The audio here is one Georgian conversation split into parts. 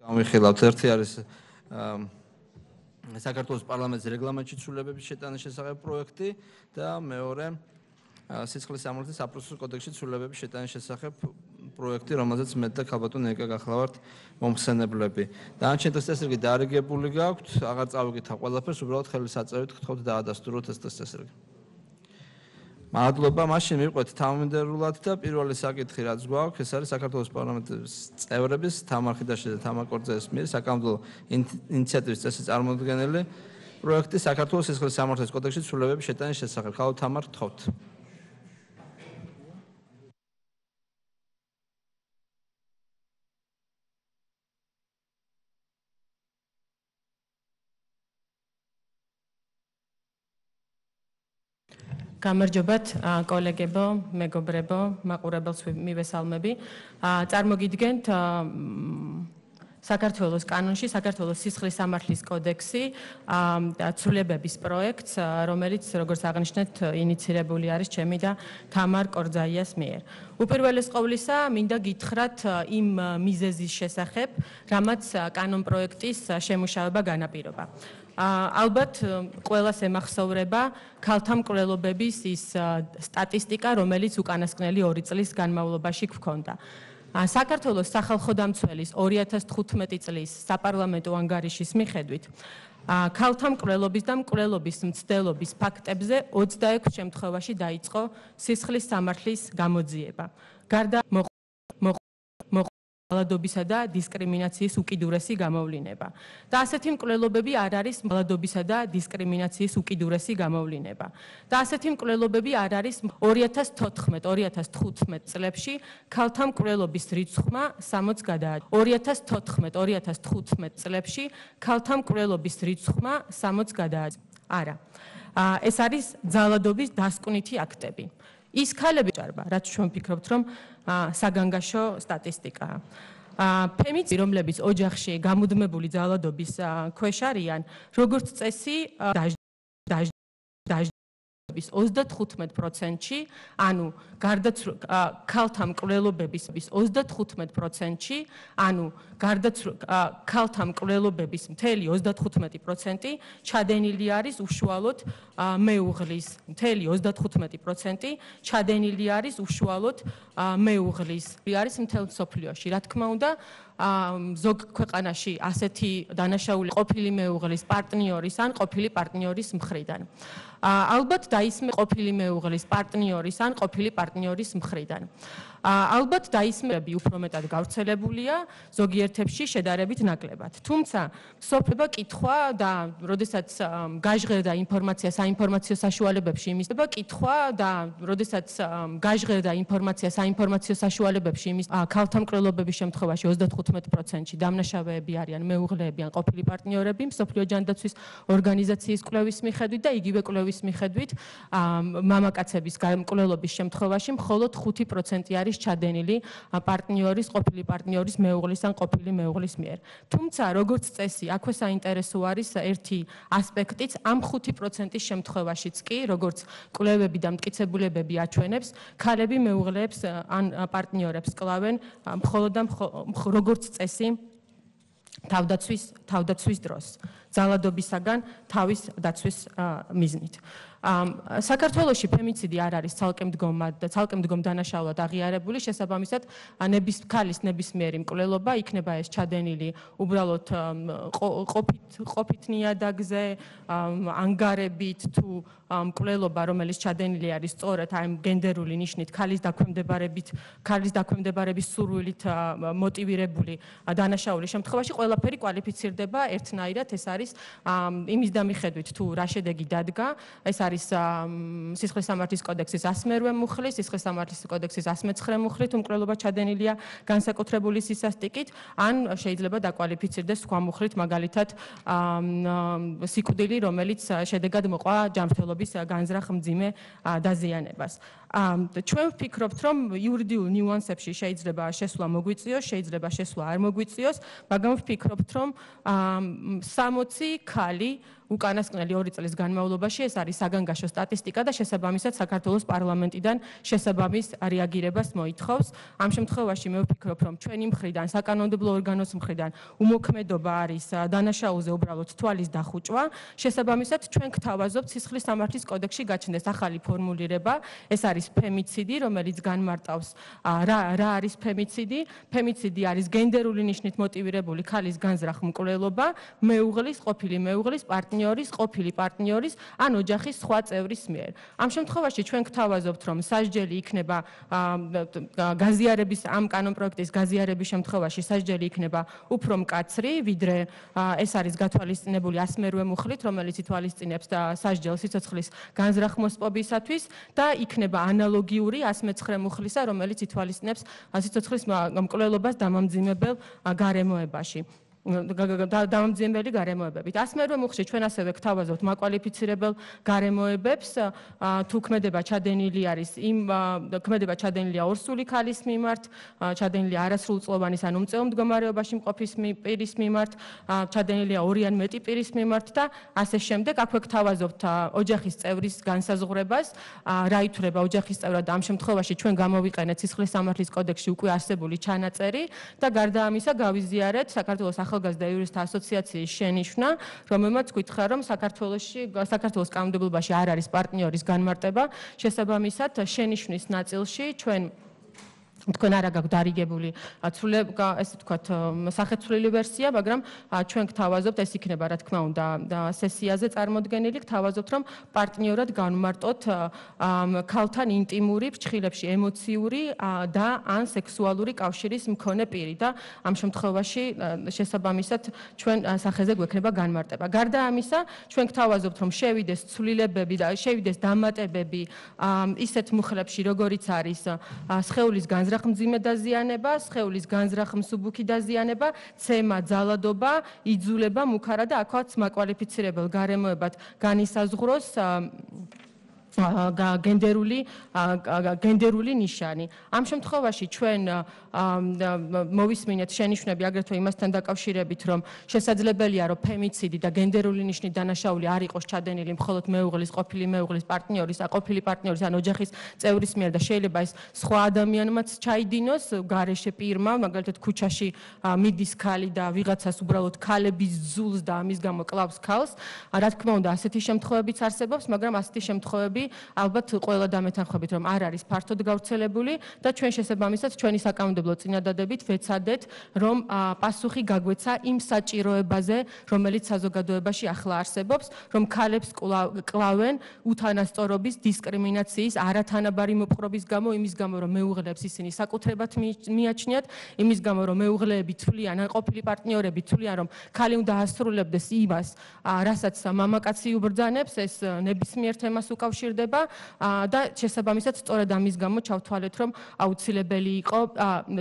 ამიხილავთ ერთი არის საქართველოს პარლამენტის რეგლამენტში ცვლილებების შეტანის შესახებ პროექტი და მეორე სიცხლის სამართლის საპროცესო კოდექსში ცვლილებების შეტანის შესახებ პროექტი, რომელზეც მე და ქალბატონ ნიკა გახლავართ მომხსენებლები. დანარჩენი წესრიგი დარიგებული გაქვთ, აღარ წავიკითხა ყველაფერს, უბრალოდ ხელის აწევით გთხოვთ დაადასტუროთ ეს წესრიგი. მადლობა, მაშინ მივყვეთ თავმჯდომარულად და პირველი საკითხი რაც გვაქვს, ეს არის საქართველოს პარლამენტის წევრების თამარ ხიდაშვილის და თამარ კორძეის მიერ საკანონმდებლო ინიციატივის წესის წარმოდგენილი პროექტი საქართველოს სისხლის სამართლის კოდექსში ცვლილებების შეტანის შესახებ. ხალხო თამარ, გთხოვთ. გამარჯობათ კოლეგებო, მეგობრებო, მაყურებელს მივესალმები. წარმოგიდგენთ საქართველოს კანონში საქართველოს სისხლის სამართლის კოდექსი ცვლილებების პროექტს, რომელიც როგორც აღნიშნეთ, ინიცირებული არის ჩემი და თამარ კორძაიას მიერ. უპირველეს ყოვლისა, მინდა გითხრათ იმ მიზეზის შესახებ, რამაც კანონპროექტის შემუშავება განაპირობა. ალბათ ყველას ემახსოვრება ქალთა მკვლელობების ის სტატისტიკა, რომელიც უკანასკნელი 2 წლის განმავლობაში გვქონდა. საქართველოს სახალხო დამცველის 2015 წლის საპარლამენტო ანგარიშის მიხედვით ქალთა მკვლელობის და მკვლელობის მცდელობის ფაქტებზე 26 შემთხვევაში დაიწყო სისხლის სამართლის გამოძიება. გარდა მალადობისა და დისკრიმინაციის უკიდურესი გამოვლინება. და ასეთი მკვლელობები არ არის მალადობისა და დისკრიმინაციის უკიდურესი გამოვლინება. და ასეთი მკვლელობები არ არის 2014-2015 წლებში ქალთა მკვლელობის რიცხვმა 60 გადააჭრა. 2014-2015 წლებში ქალთა მკვლელობის რიცხვმა 60 გადააჭრა. არა. ეს არის ძალადობის დასკვნითი აქტები. ის ქალები ჭარბა, რაც ჩვენ ვფიქრობთ, რომ საგანგაშო სტატისტიკაა. ფემიციდები, რომლებიც ოჯახში გამუდმებული ძალადობის ქვეშ არიან, როგორც წესი, დაჟდების 35%-ში, ანუ ქალთა მკვლელობების 35%-ში, ანუ ქალთა მკვლელობების მთელი 35% ჩადენილი არის უშუალოდ მეუღლის, მთელი 35% ჩადენილი არის უშუალოდ მეუღლის. არის მთელ მსოფლიოში. რა თქმა უნდა, ზოგ ქვეყანაში ასეთი დანაშაული ყოფილი მეუღლის პარტნიორის ან ყოფილი პარტნიორის მხრიდან. ალბათ დაისმე ყოფილი მეუღლის პარტნიორის ან ყოფილი პარტნიორის მხრიდან. ალბათ დაისმები უფრო მეტად გავრცელებულია, ზოგიერთებში შედარებით ნაკლებად. თუმცა სოფლება კითხვა და როდესაც გაჟღერდა ინფორმაცია საინფორმაციო საშუალებებში იმის კითხვა და როდესაც გაჟღერდა ინფორმაცია საინფორმაციო საშუალებებში იმის ქალთა მკვლელობების შემთხვევაში 35%-ში დამნაშავეები არიან მეუღლეები ან ყოფილი პარტნიორები მსოფლიო ჯანდაცვის ორგანიზაციის კვლევის მიხედვით და იგივე კვლევის მიხედვით მამაკაცების მკვლელობის შემთხვევაში მხოლოდ 5% არის ჩადენილი პარტნიორის, ყოფილი პარტნიორის მეუღლის ან ყოფილი მეუღლის მიერ. თუმცა, როგორც წესი, აქვე საინტერესო არის ერთი ასპექტიც, ამ 5%-ის შემთხვევაშიც კი, როგორც კვლევები და მტკიცებულებები აჩვენებს, ქალები მეუღლეებს ან პარტნიორებს კლავენ მხოლოდ და როგორც წესი თავდაცვის დროს, ძალადობისაგან თავის დაცვის მიზნით. საქართველოში ფემიციდი არ არის ცალკემდგომ დანაშაულად აღიარებული, შესაბამისად ქალის ნებისმიერი მკვლელობა იქნება ეს ჩადენილი უბრალოდ ყოფით ნიადაგზე, ანგარებით თუ მკვლელობა, რომელიც ჩადენილი არის სწორედ აი გენდერული ნიშნით ქალის დაქვემდებარების სურვილით მოტივირებული დანაშაულის შემთხვევაში ყველაფერი კვალიფიცირდება ერთნაირად, ეს არის იმის დამიხედვით თუ რა შედეგი დადგა, ეს არის სისხლის სამართლის კოდექსის 108 მუხლი, სისხლის სამართლის კოდექსის 109 მუხლი, თუ მკვლელობა ჩადენილია განსაკუთრებული სისასტიკით, ან შეიძლება დაკვალიფიცირდეს სხვა მუხლით, მაგალითად სიკვდილი, რომელიც შედეგად მოყვა ჯანმრთელობის განზრახ მძიმე დაზიანებას. ჩვენ ვფიქრობთ, რომ იურიდიულ ნიუანსებში შეიძლება შესვლა მოგვიწიოს, შეიძლება შესვლა არ მოგვიწიოს, მაგრამ ვფიქრობთ, რომ 60 ქალი უკანასკნელი 2 წლის განმავლობაში ეს არის საგანგაშო სტატისტიკა და შესაბამისად საქართველოს პარლამენტიდან შესაბამის რეაგირებას მოითხოვს. ამ შემთხვევაში მე ვფიქრობ, რომ ჩვენი მხრიდან, საკანონმდებლო ორგანოს მხრიდან უმოქმედობა არის დანაშაულზე უბრალოდ თვალის დახუჭვა. შესაბამისად ჩვენ გთავაზობთ სისხლის სამართლის კოდექსში გაჩნდეს ახალი ფორმულირება. ეს არის ფემიციდი, რომელიც განმარტავს რა არის ფემიციდი. ფემიციდი არის გენდერული ნიშნით მოტივირებული ქალის განზრახ მკვლელობა, მეუღლის, ყოფილი მეუღლის, ყოფილი პარტნიორის ან ოჯახის სხვა წევრის მიერ. ამ შემთხვევაში ჩვენ გთავაზობთ, რომ სასჯელი იქნება გაზიარების ამ კანონპროექტის გაზიარების შემთხვევაში სასჯელი იქნება უფრო მკაცრი, ვიდრე ეს არის გათვალისწინებული 108 მუხლით, რომელიც ითვალისწინებს სასჯელს სიცოცხლის განზრახ-მოსპობისათვის და იქნება ანალოგიური 109 მუხლისა, რომელიც ითვალისწინებს სიცოცხლის მკვლელობას დამამძიმებელ გარემოებაში. დამამძიმებელი გარემოებებით. 108 მუხლში ჩვენ ასევე გთავაზობთ მაკვალიფიცირებელ გარემოებებს, თუ ქმედება ჩადენილი არის ქმედება ჩადენილია ორსული ქალის მიმართ, ჩადენილია არასრულწლოვანის ან უმწეო მდგომარეობაში მყოფის პირის მიმართ, ჩადენილია 2 ან მეტი პირის მიმართ და ასე შემდეგ. აქვე გთავაზობთ ოჯახის წევრის განსაზღვრებას, რა ითვლება ოჯახის წევრად და ამ შემთხვევაში ჩვენ გამოვიყენეთ სისხლის სამართლის კოდექსში უკვე არსებული ჩანაწერი და გარდა ამისა გავიზიარეთ საქართველოს ახალგაზრდა იურისტთა ასოციაციის შენიშვნა, რომელმაც გითხრა, რომ საქართველოს კანონმდებლობაში არ არის პარტნიორის განმარტება. შესაბამისად, შენიშვნის ნაწილში თქვენ არა გაქვთ დარიგებული ესე ვთქვათ სახეცვლილი ვერსია, მაგრამ ჩვენ გთავაზობთ, ეს იქნება რა თქმა უნდა სესიაზე წარმოდგენილი, გთავაზობთ, რომ პარტნიორად განმარტოთ ქალთან ინტიმური, ფრჩხილებში ემოციური და ან სექსუალური კავშირის მქონე პირი და ამ შემთხვევაში შესაბამისად ჩვენ სახეზე გვექნება განმარტება. გარდა ამისა, ჩვენ გთავაზობთ, რომ შევიდეს ცვლილებები და შევიდეს დამატებები ისეთ მუხლებში, როგორიც არის სხეულის განზრახ-მძიმე დაზიანება, სხეულის განზრახ-მსუბუქი დაზიანება, ცემა, ძალადობა, იძულება, მუქარა და აქაც მაკვალიფიცირებელ გარემოებად განისაზღვროს გენდერული ნიშანი. ამ შემთხვევაში ჩვენ მოვისმინეთ შენიშვნები აგრეთვე იმასთან დაკავშირებით, რომ შესაძლებელია, რომ ფემიციდი და გენდერული ნიშნით დანაშაული არ იყოს ჩადენილი მხოლოდ მეუღლის, ყოფილი მეუღლის, პარტნიორის, ყოფილი პარტნიორის ან ოჯახის წევრის მიერ და შეიძლება ეს სხვა ადამიანმაც ჩაიდინოს გარეშე პირმა, მაგალითად ქუჩაში მიდის ქალი და ვიღაცას უბრალოდ ქალების ზულს და ამის გამო კლავს ქალს. რა თქმა უნდა, ასეთი შემთხვევებიც არსებობს, მაგრამ ასეთი შემთხვევები ალბათ ყველა დამეთანხმებით, რომ არ არის ფართოდ გავრცელებული და ჩვენ შესაბამისად ჩვენი საკანონმდებლო წინადადებით ვეცადეთ, რომ პასუხი გაგვეცა იმ საჭიროებაზე, რომელიც საზოგადოებაში ახლა არსებობს, რომ ქალებს კლავენ უთანასწორობის, დისკრიმინაციის, არათანაბარი მოპყრობის გამო, იმის გამო, რომ მეუღლეებს ისინი საკუთრებად მიაჩნიათ, იმის გამო, რომ მეუღლეები თვლიან, ან ყოფილი პარტნიორები თვლიან, რომ ქალი უნდა ასრულებდეს იმას, რასაც მამაკაცი უბრძანებს, ეს ნებისმიერ თემას უკავშირდება და შესაბამისად სწორედ ამის გამო ჩავთვალეთ, რომ აუცილებელი იყო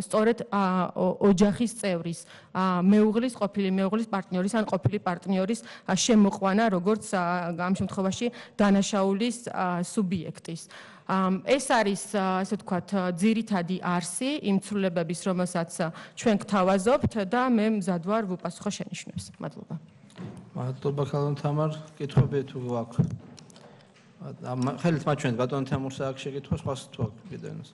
სწორედ ოჯახის წევრის, მეუღლის, ყოფილი მეუღლის, პარტნიორის ან ყოფილი პარტნიორის შემოყვანა, როგორც ამ შემთხვევაში დანაშაულის სუბიექტის. ეს არის, ასე ვთქვათ, ძირითადი არსი იმ ცვლილებების, რომელსაც ჩვენ გთავაზობთ და მე მზად ვარ ვუპასუხო შენიშვნებს. მადლობა. მადლობა ქალბატონ თამარ, კითხვები თუ აქვს? ხელით მაჩვენეთ ბატონ თემურს აქვს შეკითხვა, სხვას თუ აქვს კიდევ ένας?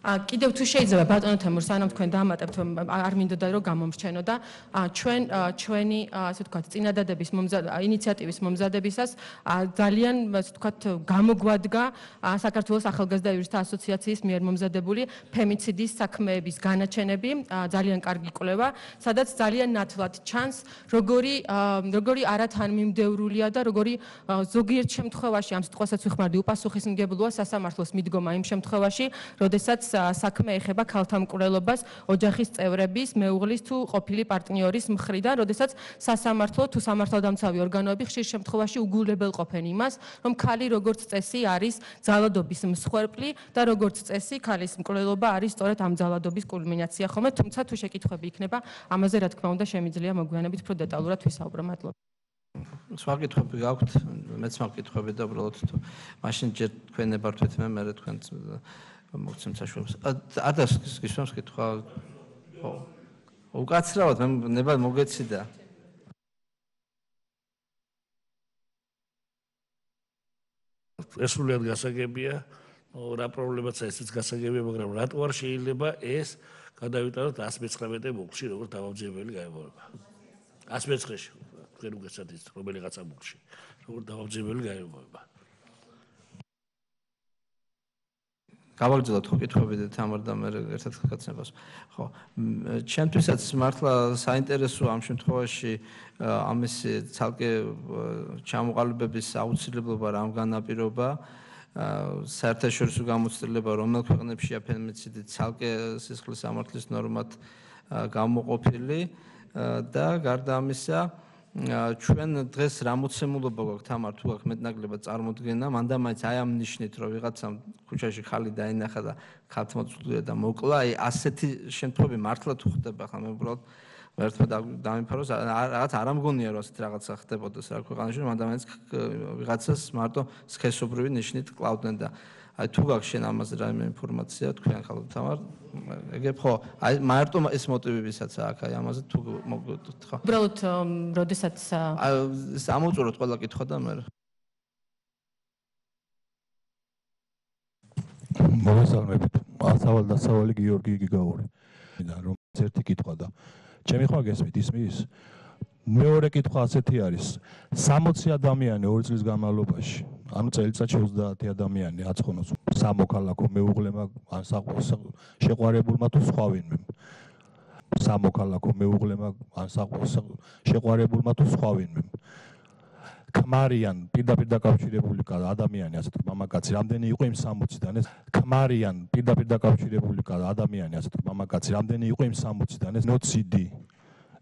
კიდევ თუ შეიძლება ბატონო თემურ, სანამ თქვენ დაამატებთ, არ მინდოდა რომ გამომრჩენო და ჩვენი ასე ვთქვათ წინადადების ინიციატივის მომზადებისას ძალიან ასე ვთქვათ გამოგვადგა საქართველოს ახალგაზრდა იურისტთა ასოციაციის მიერ მომზადებული ფემიციდის საქმეების განაჩენები, ძალიან კარგი კვლევა, სადაც ძალიან ნათლად ჩანს, როგორი არათანმიმდევრულია და როგორი ზოგიერთ შემთხვევაში ამ სიტყვასაც ვიხმარდი უპასუხისმგებლოა სასამართლოს მიდგომა იმ შემთხვევაში, როდესაც საქმე ეხება ქალთა მკვლელობას ოჯახის წევრების, მეუღლის თუ ყოფილი პარტნიორის მხრიდან, როდესაც სასამართლო თუ სამართალდამცავი ორგანოები ხშირ შემთხვევაში უგულებელყოფენ იმას, რომ ქალი როგორც წესი არის ძალადობის მსხვერპლი და როგორც წესი ქალის მკვლელობა არის სწორედ ამ ძალადობის კულმინაცია ხოლმე, თუმცა თუ შეკითხვები იქნება, ამაზე რა თქმა უნდა შემიძლია მოგვიანებით უფრო დეტალურად ვისაუბრო. მადლობა. სხვა კითხვები გაქვთ? მეც მაქვს კითხვები და უბრალოდ თუ მაშინ ჯერ თქვენ ნებართვით მე თქვენ მოგცემთ საშუალებას. არ დასკისვამს კითხვა. ხო. უკაცრავად მე ნება მოგეციდა. ეს სულად გასაგებია, რა პრობლემაც ესეც გასაგებია, მაგრამ რატო არ შეიძლება ეს გადავიტანოთ 119 მუხლში, როგორც დამამძიმებელი გაიმეორება. 119-ში, თქვენ უგეცათ ის რომელიღაცა მუხლში, როგორც დამამძიმებელი გაიმეორება. გავაგრძელოთ ხო კითხვები და თამარ და მე ერთად გაგაცნებას. ხო, ჩემთვისაც მართლა საინტერესოა ამ შემთხვევაში ამის ცალკე ჩამოყალიბების აუცილებლობა რამ განაპირობა, საერთაშორისო გამოცდილება რომელ ქვეყნებშია ფემიციდი ცალკე სისხლის სამართლის ნორმად გამოყოფილი და გარდა ამისა ჩვენ დღეს რა მოცემულობა გვაქვს თამარ თუ აქ მეტნაკლებად წარმოდგენა მანდა მაინც აი ამ ნიშნით რომ ვიღაცამ ქუჩაში ხალი დაინახა და ქალთმოწვდია და მოკლა აი ასეთი შემთხვევები მართლა თუ ხდება ხა მე უბრალოდ ერთმა დამიფაროს რაღაც არ ამგონია რომ ასეთ რაღაცა ხდებოდეს რა ქვეყანაში მანდა მაინც ვიღაცას მარტო სქესობრივი ნიშნით კლავდნენ და აი თუ გაქვს შენ ამაზე რაიმე ინფორმაცია თქვენ ხალხო თამარ ეგებ ხო აი მარტო ეს მოტივებისაც აქვს აი ამაზე თუ მოგდოთ ხო უბრალოდ როდესაც ამოწუროთ ყველა კითხვა და მე მოგესალმებით ასავალ გიორგი გიგაური და რომელიც ერთი კითხვა და ჩემი ხმა გესმით ისმის მეორე კითხვა ასეთი არის 60 ადამიანი 2 წლის განმავლობაში ანუ წელიწადში 30 ადამიანი აცხონოს სამოქალაქო მეუღლემა ან შეყვარებულმა თუ სხვა ვინმე სამოქალაქო მეუღლემა ან შეყვარებულმა თუ სხვა ვინმე ქმარიან პირდაპირ დაკავშირებული ადამიანი ასეთ მამაკაცი რამდენი იყო იმ 60-დან ეს ქმარიან პირდაპირ დაკავშირებული ადამიანი ასეთ მამაკაცი რამდენი იყო იმ 60-დან ეს ნოციდი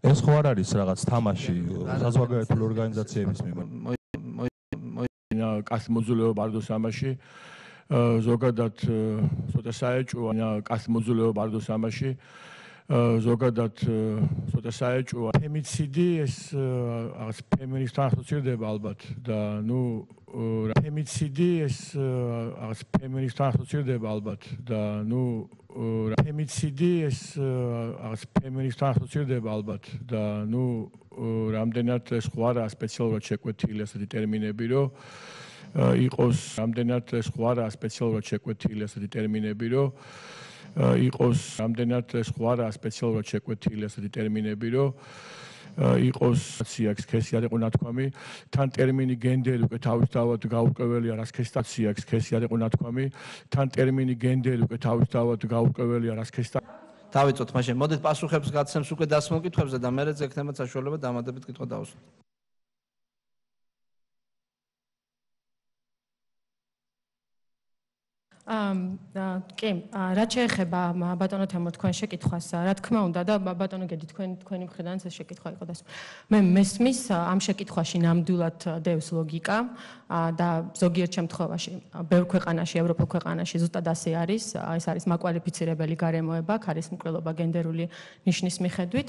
ეს ხო არ არის რაღაც თამაში საზღვარგარეთული ორგანიზაციების მიმართ კასტ მოძულეობა ბარდოს ამაში ზოგადად ცოტა საეჭვოა კასტ მოძულეობა ბარდოს ამაში ზოგადად ცოტა საეჭვოა ფემიციდი ეს რაღაც ფემინისტთან ასოცირდება ალბათ და ნუ ფემიციდი ეს რაღაც ფემინისტთან ასოცირდება ალბათ და ნუ ფემიციდი ეს რაღაც ფემინისტთან ასოცირდება ალბათ და ნუ რამდენად ეს ხო არა სპეციალურად შეკვეთილი ასეთი ტერმინები რომ იყოს რამდენად ეს ხო არა სპეციალურად შეკვეთილი ასეთი ტერმინები რომ იყოს რამდენად ეს ხო არა სპეციალურად შეკვეთილი ასეთი ტერმინები რომ იყოს სიაქს ქესი არ იყო ნათქვამი თან ტერმინი გენდერი უკვე თავისთავად გაურკვეველია რას ქესტაციაქს ქესი არ იყო ნათქვამი თან ტერმინი გენდერი უკვე თავისთავად გაურკვეველია რას ქესტა დავიწოთ მაშინ მოდით პასუხებს გაცემს უკვე დასმულ კითხვებზე და მერე ზექნებათ საშუალება დამატებით კითხვა დავუსვათ კი, რაც შეეხება ბატონო თემო თქვენ შეკითხვას, რა თქმა უნდა და ბატონო გედი თქვენი მხრიდან ეს შეკითხვა იყო დასმული. მე მესმის ამ შეკითხვაში ნამდვილად დევს ლოგიკა და ზოგიერთ შემთხვევაში ბევრ ქვეყანაში, ევროპულ ქვეყანაში ზუსტად ასე არის. ეს არის მაკვალიფიცირებელი გარემოება, ქარისმკვლელობა გენდერული ნიშნის მიხედვით.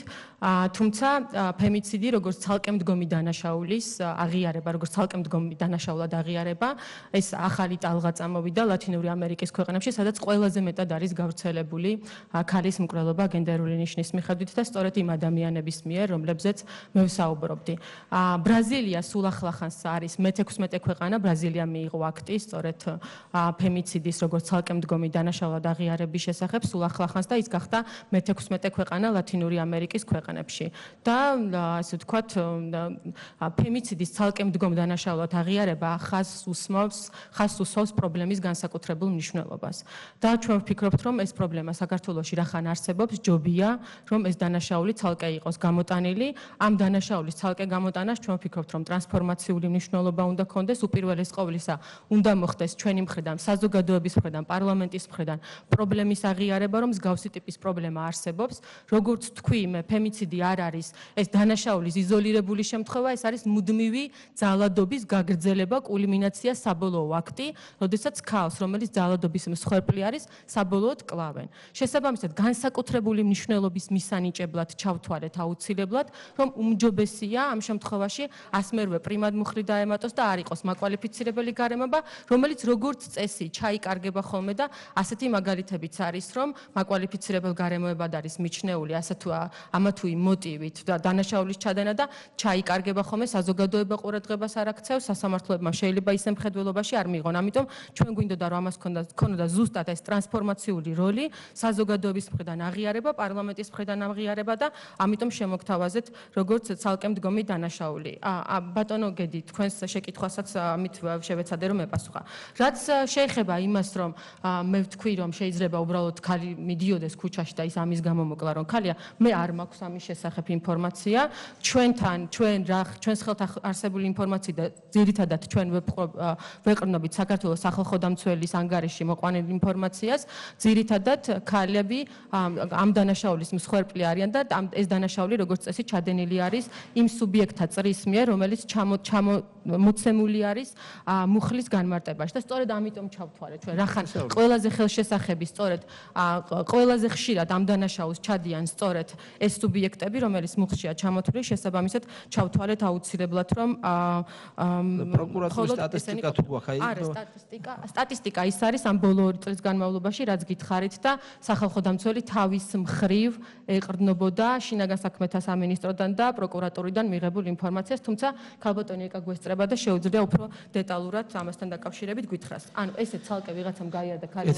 თუმცა ფემიციდი როგორც ცალკემდგომი დანაშაულის აღიარება, როგორც ცალკემდგომი დანაშაულად აღიარება, ეს ახალი ტალღა წამოვიდა ლათინური ამერიკის ქვეყნებში, სადაც ყველაზე მეტად არის გავრცელებული ქალის მკვლელობა გენდერული ნიშნის მიხედვით და სწორედ იმ ადამიანების მიერ, რომლებზეც მე ვსაუბრობდი. ბრაზილია სულ ახლახანს არის მე-16 ქვეყანა, ბრაზილია მიიღო აქტი სწორედ ფემიციდის როგორც ცალკემდგომი დანაშაულად აღიარების შესახებ სულ ახლახანს და ის გახდა მე-16 ქვეყანა ლათინური ამერიკის ქვეყნებში. და ასე ვთქვათ, ფემიციდის ცალკემდგომ დანაშაულად აღიარება ხაზს უსვამს პრობლემის განსაკუთრებულ მნიშვნელობას. და ჩვენ ვფიქრობთ, რომ ეს პრობლემა საქართველოში რახან არსებობს, ჯობია, რომ ეს დანაშაული ცალკე იყოს გამოტანილი. ამ დანაშაულის ცალკე გამოტანას ჩვენ ვფიქრობთ, რომ ტრანსფორმაციული მნიშვნელობა უნდა ქონდეს, უპირველეს ყოვლისა, უნდა მოხდეს ჩვენი მხრიდან, საზოგადოების მხრიდან, პარლამენტის მხრიდან პრობლემის აღიარება, რომ მსგავსი ტიპის პრობლემა არსებობს. როგორც თქვი, ფემიციდი არ არის ეს დანაშაულის იზოლირებული შემთხვევა, ეს არის მუდმივი ძალადობის გაგრძელება, კულმინაცია, საბოლოო აქტი, როდესაც ქალს, რომელიც ძალადობის მსხვერპლი არის, საბოლოოდ კლავენ. შესაბამისად, განსაკუთრებული მნიშვნელობის მისანიჭებლად ჩავთვალეთ აუცილებლად, რომ უმჯობესია ამ შემთხვევაში ასმერვე პრიმად მუხლი დაემატოს და არ იყოს მაკვალიფიცირებელი გარემოება, რომელიც როგორც წესი ჩაიკარგება ხოლმე და ასეთი მაგალითებიც არის, რომ მაკვალიფიცირებელ გარემოებად არის მიჩნეული ასე თუ ამა თუ იმ მოტივით და დანაშაულის ჩადენა და ჩაიკარგება ხოლმე საზოგადოება ყურადღებას არ აქცევს, სასამართლოებმა შეიძლება ისე მხედველობაში არ მიიღონ. ამიტომ ჩვენ გვინდოდა რომ ამას ქონოდა ზუსტად ეს ტრანსფორმაციული როლი, საზოგადოების მხრიდან აღიარება, პარლამენტის მხრიდან აღიარება და ამიტომ შემოგთავაზეთ როგორც ცალკე მდგომი დანაშაული. ბატონო გედი, თქვენს შეკითხვასაც ამით შევეცადე რომ ეპასუხა. რაც შეეხება იმას, რომ მე ვთქვი, რომ შეიძლება უბრალოდ ქალი მიდიოდეს ქუჩაში და ის ამის გამო მოკლა, რომ ქალია, მე არ მაქვს ამის შესახებ ინფორმაცია. ჩვენს ხელთ არსებული ინფორმაცია და ძირითადად ჩვენ ვეყრდნობით საქართველოს სახალხო დამცველის ანგარიში მოყვანილ ინფორმაციას, ძირითადად ქალები ამ დანაშაულის მსხვერპლი არიან და ეს დანაშაული როგორც წესი ჩადენილი არის იმ სუბიექტთა წრის მიერ, რომელიც მოცემული არის მუხლის განმარტებაში და სწორედ ამიტომ ჩავთვალეთ ჩვენ. რახან ყველაზე ხელშესახები სწორედ ყველაზე ხშირად ამ დანაშაულს ჩადიან სწორედ ეს სუბიექტები, რომელიც მუხლშია ჩამოთვლილი, შესაბამისად ჩავთვალეთ აუცილებლად, რომ პროკურატურის სტატისტიკა თუ გვაქვს აი სტატისტიკა ის არის ამ ბოლო 2 წლის განმავლობაში, რაც გითხარით და სახალხო დამცველი თავის მხრივ ეყრდნობოდა შინაგან საქმეთა სამინისტროდან და პროკურატურიდან მიღებულ ინფორმაციას, თუმცა ქალბატონი ეკა გვესწრება და შეუძლია უფრო დეტალურად ამასთან დაკავშირებით გითხრას. ანუ ესე ცალკე ვიღაცამ გაიარა და ქალი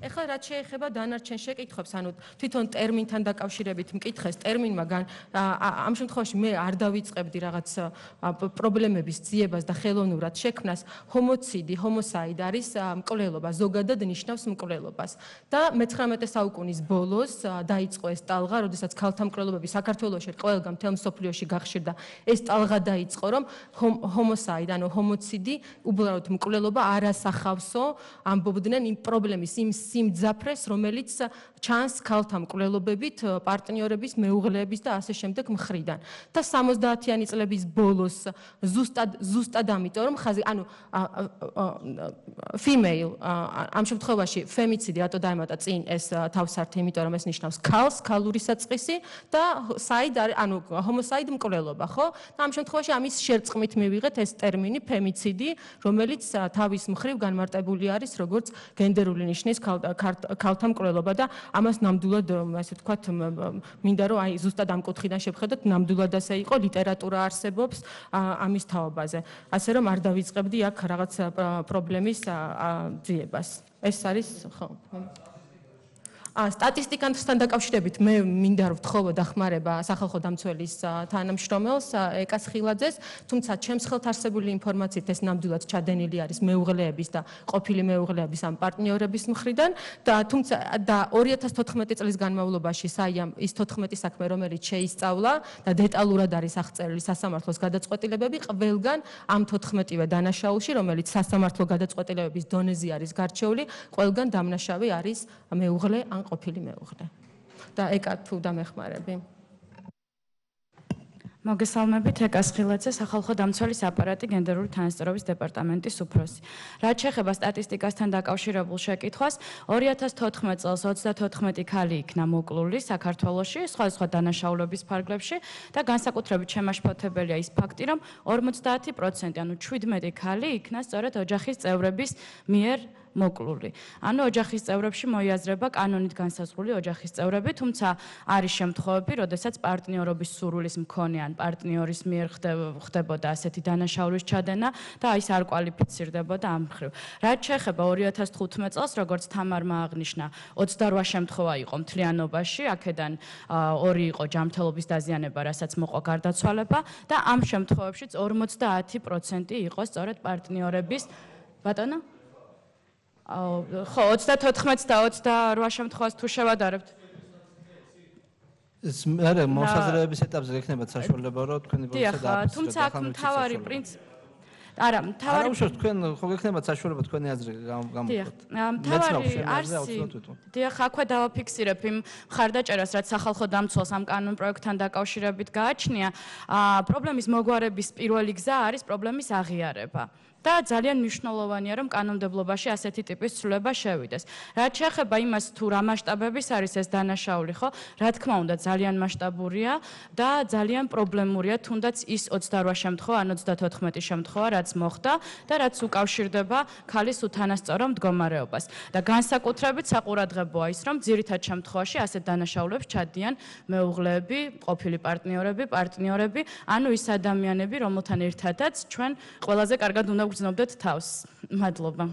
ეხლა რაც შეეხება დანარჩენ შეკითხვებს, ანუ თვითონ ტერმინთან დაკავშირებით მკითხეს, ტერმინმა ამ შემთხვევაში მე არ დავიწყებდი რაღაც პრობლემების ძიებას და ხელოვნურად შექმნას. ჰომოსაიდ არის მკვლელობა, ზოგადად ნიშნავს მკვლელობას. და მე-19 საუკუნის ბოლოს დაიწყო ეს ტალღა, როდესაც ქალთა მკვლელობები საქართველოში ყველგან მთელ მსოფლიოში გახშირდა. ეს ტალღა დაიწყო, რომ ჰომოსაიდ, ანუ ჰომოციდი, უბრალოდ მკვლელობა არ ასახავსო, ამბობდნენ იმ პრობლემის, იმ სიმძაფრეს, რომელიც ჩანს ქალთა მკვლელობებით, პარტნიორების, მეუღლეების და ასე შემდეგ მხრიდან. და 70-იანი წლების ბოლოს ზუსტად ამიტომ, რომ ანუ female ამ შემთხვევაში femicide რატო დაემატა წინ ეს თავსართი, იმიტომ რომ ეს ნიშნავს ქალს, ქალური საწყისი და side ანუ homicide მკვლელობა, ხო? და ამ შემთხვევაში ამის შერწყმით მივიღეთ ეს ტერმინი femicide, რომელიც თავის მხრივ განმარტებული არის როგორც გენდერული ნიშნის ქალთა მკვლელობა და ამას ნამდვილად ასე ვთქვათ მინდა რომ აი ზუსტად ამ კუთხიდან შევხედოთ, ნამდვილად ასე იყო, ლიტერატურა არსებობს ამის თაობაზე. ასე რომ არ დავიწყებდი აქ რაღაც პრობლემის ძიებას. ეს არის ხო. სტატისტიკასთან დაკავშირებით მე მინდა რომ ვთხოვო დახმარება სახალხო დამცველის თანამშრომელს ეკას ხილაძეს, თუმცა ჩემს ხელთ არსებული ინფორმაციით ეს ნამდვილად ჩადენილი არის მეუღლეების და ყოფილი მეუღლეების ამ პარტნიორების მხრიდან და თუმცა და 2014 წლის განმავლობაში საიამ ის 14 საქმე რომელიც შეისწავლა და დეტალურად არის აღწერილი სასამართლოს გადაწყვეტილებები, ყველგან ამ 14-ვე დანაშაულში, რომელიც სასამართლო გადაწყვეტილებების დონეზე არის გარჩეული, ყველგან დამნაშავე არის მეუღლე ყოფილი მეუღლე. და ეკა თუ დამეხმარები. მოგესალმებით, ეკას ხილაძე, სახალხო დამცველის აპარატი, გენდერული თანასწორობის დეპარტამენტის უფროსი. რაც შეეხება სტატისტიკასთან დაკავშირებულ შეკითხვას, 2014 წელს 34 ქალი იქნა მოკლული საქართველოში, სხვადასხვა დანაშაულების ფარგლებში და განსაკუთრებით შემაშფოთებელია ის ფაქტი, რომ 50%, ანუ 17 ქალი იქნა სწორედ ოჯახის წევრების მიერ მოკლული. ანუ ოჯახის წევრებში მოიაზრება კანონით განსაზღვრული ოჯახის წევრები, თუმცა არის შემთხვევები, როდესაც პარტნიორობის სურვილის მქონე ან პარტნიორის მიერ ხდებოდა ასეთი დანაშაულის ჩადენა და ის არ კვალიფიცირდებოდა ამ მხრივ. რაც შეეხება 2015 წელს, როგორც თამარმა აღნიშნა, 28 შემთხვევა იყო მთლიანობაში, აქედან 2 იყო ჯანმრთელობის დაზიანება, რასაც მოყვა გარდაცვალება და ამ შემთხვევებშიც 50% იყო სწორედ პარტნიორების ბატონო ხო 34 და 28 შემთხვევას თუ შევადარებთ ეს მე მოსაზრების ეტაპზე გექნებათ საშუალება რომ თქვენი პროცესი დააფასოთ. თუმცა აქ მთავარი პრინციპი არა, მთავარი აუშვათ თქვენ ხო გექნებათ საშუალება თქვენი აზრი გამოვიყოთ. მთავარი არსი დიახ, აქვე დავაფიქსირებ იმ მხარდაჭერას, რაც სახალხო დამცველს ამ კანონ პროექტთან დაკავშირებით გააჩნია. პრობლემის მოგვარების პირველი გზა არის პრობლემის აღიარება. და ძალიან მნიშვნელოვანია, რომ კანონმდებლობაში ასეთი ტიპის ცვლილება შევიდეს. რაც შეეხება იმას, თუ რა მასშტაბების არის ეს დანაშაული, ხო? Რა თქმა უნდა, ძალიან მასშტაბურია და ძალიან პრობლემურია, თუნდაც ის 28 შემთხვევა, ან 34 შემთხვევა, რაც მოხდა და რაც უკავშირდება ქალის უთანასწორო მდგომარეობას. და განსაკუთრებით საყურადღებოა ის, რომ ძირითად შემთხვევაში ასეთ დანაშაულებს ჩადიან მეუღლეები, ყოფილი პარტნიორები, ანუ ის ადამიანები, რომელთან ერთადაც ჩვენ ყველაზე კარგად უნდა ვგრძნობდეთ თავს. მადლობა.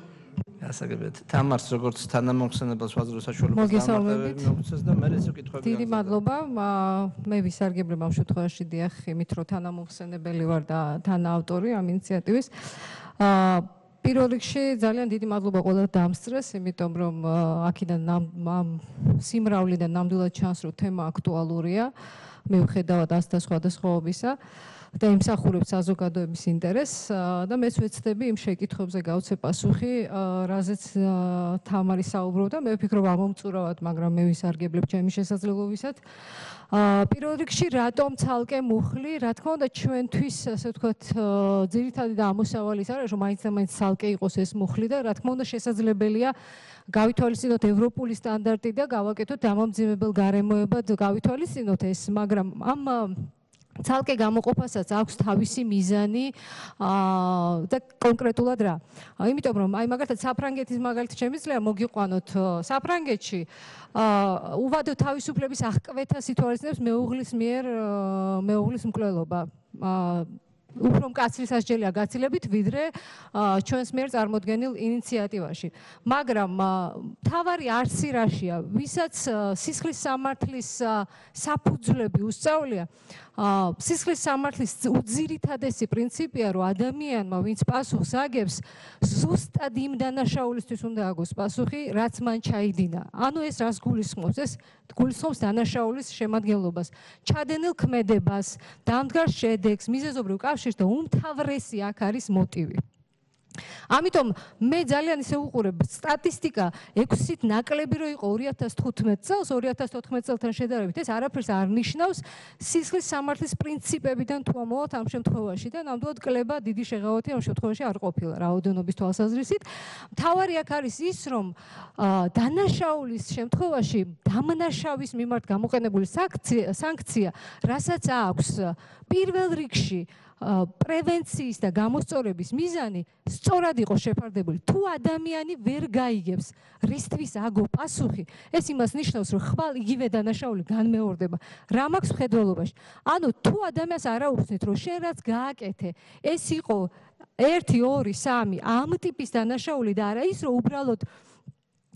გასაგებია. თამარს როგორც თანამოხსენებელს ვაძლევ საშუალებას დამატებები მოგცეს და მე ეს უკითხები. დიდი მადლობა. მე ვისარგებლებ ამ შემთხვევაში დიახ, იმით რომ თანამოხსენებელი ვარ და თანაავტორი ამ ინიციატივის. პირველ რიგში ძალიან დიდი მადლობა ყველა დამსწრეს, იმიტომ რომ აქედან სიმრავლიდან ნამდვილად ჩანს, რომ თემა აქტუალურია. მიუხედავად ასთა სხვადასხვაობისა და იმსახურებს საზოგადოების ინტერესს და მეც ვეცდები იმ შეკითხვებზე გავცე პასუხი, რაზეც თამარი საუბრობდა. მე ვფიქრობ ამომწურავად, მაგრამ მე ვისარგებლებ ჩემი შესაძლებლობისად. პირველ რიგში რატომ ცალკე მუხლი? რა თქმა უნდა, ჩვენთვის, ასე ვთქვათ, ძირითადი და ამოსავალი ის არის, რომ მაინც და მაინც ცალკე იყოს ეს მუხლი და რა თქმა უნდა, შესაძლებელია გავითვალისწინოთ ევროპული სტანდარტი და გავაკეთოთ დამამძიმებელ გარემოებად გავითვალისწინოთ ეს, მაგრამ ამ ცალკე გამოყოფასაც აქვს თავისი მიზანი და კონკრეტულად რა. იმიტომ რომ აი მაგალითად საფრანგეთის მაგალითად შემიძლია მოგიყვანოთ საფრანგეთში უვადო თავისუფლების აღკვეთა სიტუაციებს მეუღლის მიერ მეუღლის მკვლელობა. უფრო მკაცრი სასჯელია გაცილებით ვიდრე ჩვენს მიერ წარმოდგენილ ინიციატივაში. მაგრამ თავარი არსი რაშია, ვისაც სისხლის სამართლის საფუძვლები უსწავლია, სისხლის სამართლის უძირითადესი პრინციპია, რომ ადამიანმა, ვინც პასუხს აგებს, ზუსტად იმ დანაშაულისთვის უნდა აგოს პასუხი, რაც მან ჩაიდინა. ანუ ეს რას გულისხმობს? ეს გულისხმობს დანაშაულის შემადგენლობას, ჩადენილ ქმედებას, დამდგარ შედეგს, მიზეზობრივ კავშირს და უმთავრესი აქ არის მოტივი. ამიტომ მე ძალიან ისე უყურებ სტატისტიკა 6-ით ნაკლები რო იყო 2015 წელს 2014 წელთან შედარებით ეს არაფერს არ ნიშნავს სისხლის სამართლის პრინციპებიდან თუ ამოვათ ამ შემთხვევაში და ნამდვილად კლება დიდი შეღავათი ამ შემთხვევაში არ ყოფილა რაოდენობის თვალსაზრისით. მთავარი აქ არის ის რომ დანაშაულის შემთხვევაში დამნაშავის მიმართ გამოყენებული სანქცია რასაც აქვს პირველ რიგში პრევენციის და გამოსწორების მიზანი სწორად იყოს შეფარდებული. თუ ადამიანი ვერ გაიგებს რისთვის აგო პასუხი, ეს იმას ნიშნავს, რომ ხვალ იგივე დანაშაული განმეორდება. რა მაქვს მხედველობაში? ანუ თუ ადამიანს არ აუხსნით, რომ შენ რაც გააკეთე, ეს იყო 1, 2, 3 ამ ტიპის დანაშაული და არა ის, რომ უბრალოდ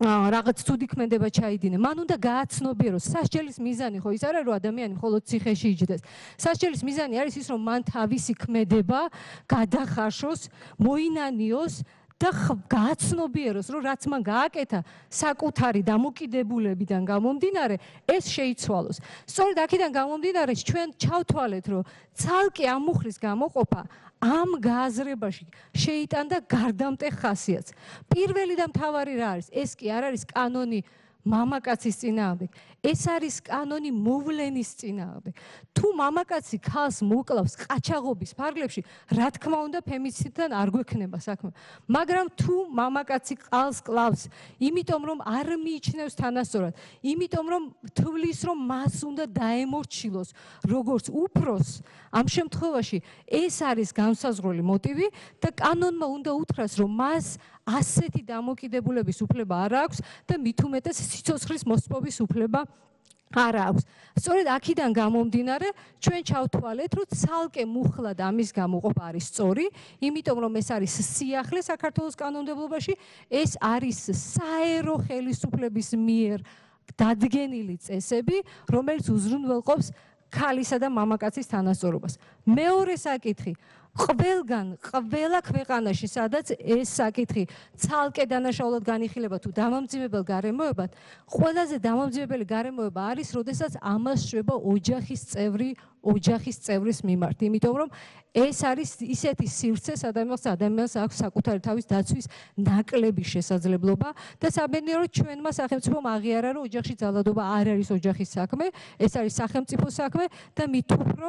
რაღაც ცუდი ქმედება ჩაიდინე. მან უნდა გააცნობიეროს სასჯელის მიზანი ხო ის არა რომ ადამიანი მხოლოდ ციხეში იჯდეს. სასჯელის მიზანი არის ის რომ მან თავისი ქმედება გადახარშოს, მოინანიოს და გააცნობიეროს რომ რაც მან გააკეთა საკუთარი დამოკიდებულებიდან გამომდინარე ეს შეიცვალოს. სწორედ აქედან გამომდინარე ჩვენ ჩავთვალეთ რომ ცალკე ამ მუხლის გამოყოფა ამ გააზრებაში შეიტანდა გარდამტეხ ხასიათს. პირველი და მთავარი რა არის? ეს კი არ არის კანონი მამაკაცის წინააღმდეგ. ეს არის კანონი მოვლენის წინააღმდეგ. თუ მამაკაცი ქალს მოკლავს ყაჩაღობის ფარგლებში, რა თქმა უნდა ფემიციდთან არ გვექნება საქმე. მაგრამ თუ მამაკაცი ყალს კლავს, იმიტომ რომ არ მიიჩნევს თანასწორად, იმიტომ რომ თვლის რომ მას უნდა დაემორჩილოს როგორც უფროს, ამ შემთხვევაში ეს არის განსაზღვრული მოტივი და კანონმა უნდა უთხრას, რომ მას ასეთი დამოკიდებულების უფლება არ აქვს და მით უმეტეს სიცოცხლის მოსპობის უფლება არ აქვს. სწორედ აქედან გამომდინარე, ჩვენ ჩავთვალეთ, რომ ცალკე მუხლად ამის გამოყოფა არის სწორი, იმიტომ რომ ეს არის სიახლე საქართველოს კანონმდებლობაში, ეს არის საერო ხელისუფლების მიერ დადგენილი წესები, რომელიც უზრუნველყოფს ქალისა და მამაკაცის თანასწორობას. მეორე საკითხი ყველა ქვეყანაში, სადაც ეს საკითხი ცალკე დანაშაულად განიხილება თუ დამამძიმებელ გარემოებად, ყველაზე დამამძიმებელი გარემოება არის, როდესაც ამას შვება ოჯახის წევრის მიმართ, იმიტომ რომ ეს არის ისეთი სივრცე, ადამიანს აქვს საკუთარი თავის დაცვის ნაკლები შესაძლებლობა და საბედნიეროდ ჩვენმა სახელმწიფომ აღიარა, რომ ოჯახში ძალადობა არ არის ოჯახის საქმე, ეს არის სახელმწიფო საქმე და მით უფრო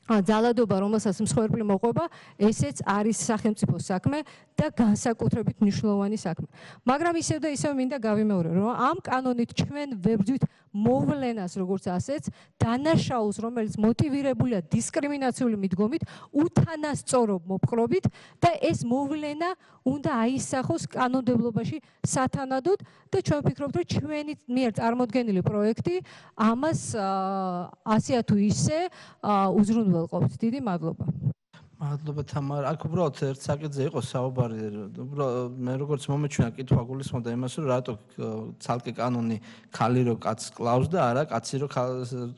ძალადობა, რომელსაც მსხვერპლი მოყვება, ესეც არის სახელმწიფოს საქმე და განსაკუთრებით მნიშვნელოვანი საქმე. მაგრამ ისევ და ისევ მინდა გავიმეორო, რომ ამ კანონით ჩვენ ვებრძვით მოვლენას, როგორც ასეც, დანაშაულს, რომელიც მოტივირებულია დისკრიმინაციული მიდგომით, უთანასწორო მოპყრობით და ეს მოვლენა უნდა აისახოს კანონმდებლობაში სათანადოდ და ჩვენ ვფიქრობთ, რომ ჩვენი მიერ წარმოდგენილი პროექტი ამას ასე თუ ისე უზრუნველყოფს. დიდი მადლობა. მადლობა თამარა. აქ უბრალოდ ერთ საკითხზე იყო საუბარი. მე როგორც მომეჩვენა კითხვა გულისხმობდა იმას, რომ რატო ცალკე კანონი ხალი რო კაცს კლავს და არა კაცი რო